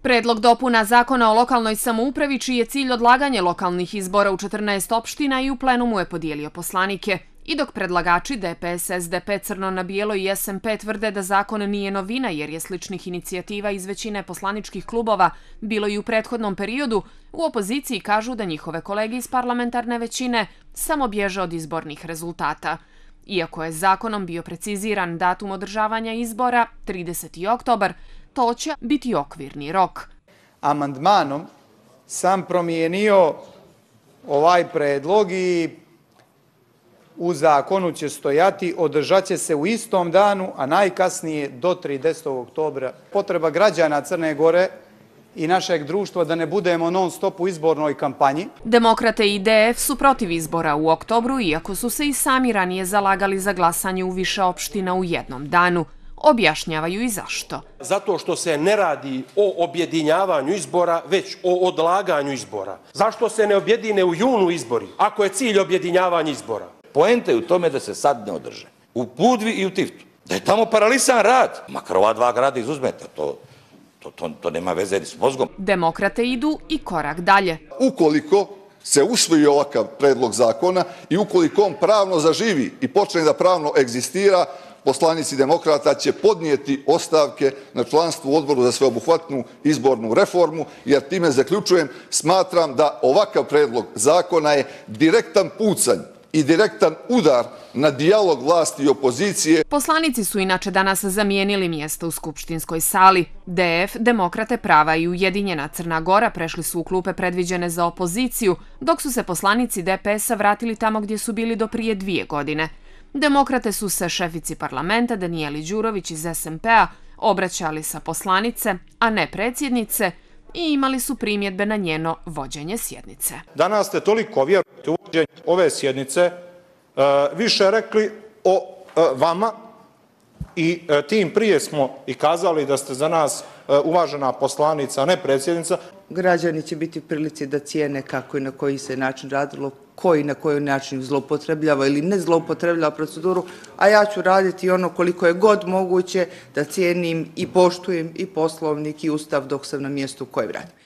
Predlog dopuna Zakona o lokalnoj samoupravi, čiji je cilj odlaganje lokalnih izbora u 14 opština i u plenumu je podijelio poslanike. I dok predlagači DPS, SDP, Crno na bijelo i SMP tvrde da zakon nije novina jer je sličnih inicijativa iz većine poslaničkih klubova bilo i u prethodnom periodu, u opoziciji kažu da njihove kolege iz parlamentarne većine samo bježe od izbornih rezultata. Iako je zakonom bio preciziran datum održavanja izbora, 30. oktobar, to će biti okvirni rok. Amandmanom sam promijenio ovaj predlog i u zakonu će stojati održat će se u istom danu, a najkasnije do 30. oktobra. Potreba građana Crne Gore i našeg društva da ne budemo non stop u izbornoj kampanji. Demokrate i DF su protiv izbora u oktobru, iako su se i sami ranije zalagali za glasanje u više opština u jednom danu. Objašnjavaju i zašto. Zato što se ne radi o objedinjavanju izbora, već o odlaganju izbora. Zašto se ne objedine u junu izbori, ako je cilj objedinjavanja izbora? Poenta je u tome da se sad ne održe. U Budvi i u Tivtu. Da je tamo paralisan rad. Makar ova dva grada izuzmete, to nema veze s mozgom. Demokrate idu i korak dalje. Ukoliko se usvoji ovakav predlog zakona i ukoliko on pravno zaživi i počne da pravno egzistira, poslanici demokrata će podnijeti ostavke na članstvu u Odboru za sveobuhvatnu izbornu reformu, jer time zaključujem, smatram da ovakav predlog zakona je direktan pucanj i direktan udar na dijalog vlasti i opozicije. Poslanici su inače danas zamijenili mjesto u skupštinskoj sali. DF, Demokrate, Prava i Ujedinjena Crna Gora prešli su u klupe predviđene za opoziciju, dok su se poslanici DPS-a vratili tamo gdje su bili do prije 2 godine. Demokrate su se šefici parlamenta Danijeli Đurović iz SMP-a obraćali sa poslanice, a ne predsjednice, i imali su primjedbe na njeno vođenje sjednice. Danas ste toliko vjerujete u vođenje ove sjednice, više rekli o vama i tim prije smo i kazali da ste za nas uvažena poslanica, a ne predsjednica. Građani će biti u prilici da cijene kako i na koji se način radilo, koji na koji način zloupotrebljava ili ne zloupotrebljava proceduru, a ja ću raditi ono koliko je god moguće da cijenim i poštujem i poslovnik i ustav dok sam na mjestu u kojem radim.